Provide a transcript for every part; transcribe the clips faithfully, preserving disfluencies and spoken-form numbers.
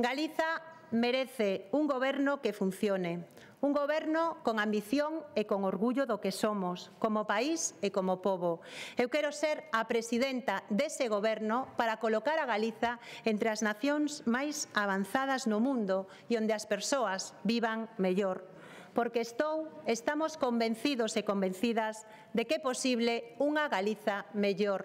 Galiza merece un goberno que funcione, un goberno con ambición e con orgullo do que somos, como país e como pobo. Eu quero ser a presidenta dese goberno para colocar a Galiza entre as nacións máis avanzadas no mundo e onde as persoas vivan mellor. Porque estou, estamos convencidos e convencidas de que é posible unha Galiza mellor.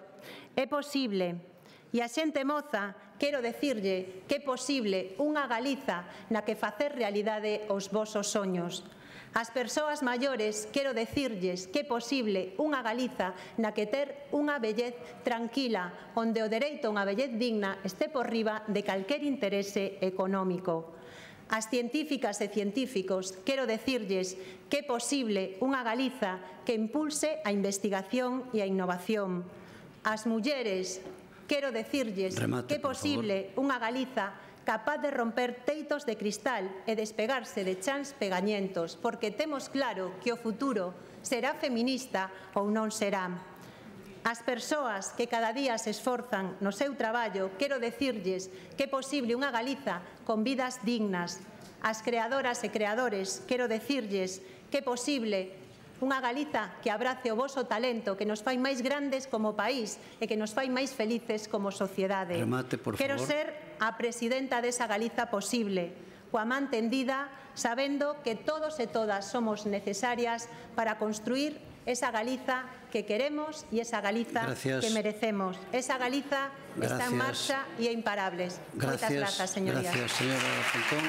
É posible. E a xente moza, quero dicirlle que é posible unha Galiza na que facer realidade os vosos soños. As persoas maiores, quero dicirlles que é posible unha Galiza na que ter unha vellez tranquila, onde o dereito a unha vellez digna este por riba de calquer interese económico. As científicas e científicos, quero dicirlles que é posible unha Galiza que impulse a investigación e a innovación. As mulleres, quero dicirlles Remate, que é posible unha Galiza capaz de romper teitos de cristal e despegarse de chans pegañentos, porque temos claro que o futuro será feminista ou non será. As persoas que cada día se esforzan no seu traballo, quero dicirlles que é posible unha Galiza con vidas dignas. As creadoras e creadores, quero dicirlles que é posible unha Galiza que abrace o voso talento, que nos fai máis grandes como país e que nos fai máis felices como sociedade. Remate, por Quero favor. ser a presidenta desa Galiza posible, coa man tendida, sabendo que todos e todas somos necesarias para construir esa Galiza que queremos e esa Galiza Gracias. que merecemos. Esa Galiza Gracias. está en marcha e é imparables. Gracias. Moitas grazas, señorías. Gracias, señora Pontón.